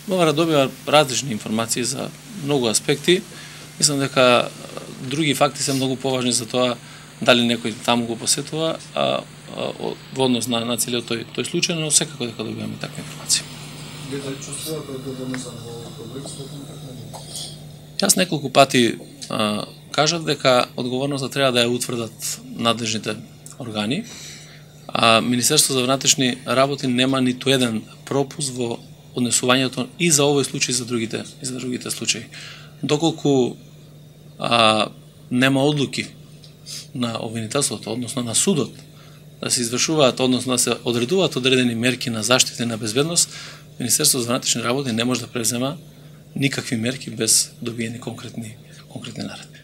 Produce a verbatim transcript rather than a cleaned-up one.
МВР добива различни информации за многу аспекти. Мислам дека други факти се многу поважни за тоа дали некој таму го посетува, а, а во однос на, на целиот тој, тој случај, но секако дека добиваме таква информација. Дали чувствувате одговорноста во контекстот на така? Јас неколку пати а, кажав дека одговорноста треба да ја утврдат надлежните органи, а Министерството за внатрешни работи нема ниту еден пропуск во однесувањето и за овој случај и за другите и за другите случаи. Доколку а, нема одлуки на обвинителството, односно на судот, да се извршуваат, односно да се одредуваат одредени мерки на заштита и на безбедност, Министерството за внатрешни работи не може да презема никакви мерки без добиени конкретни конкретни наредби.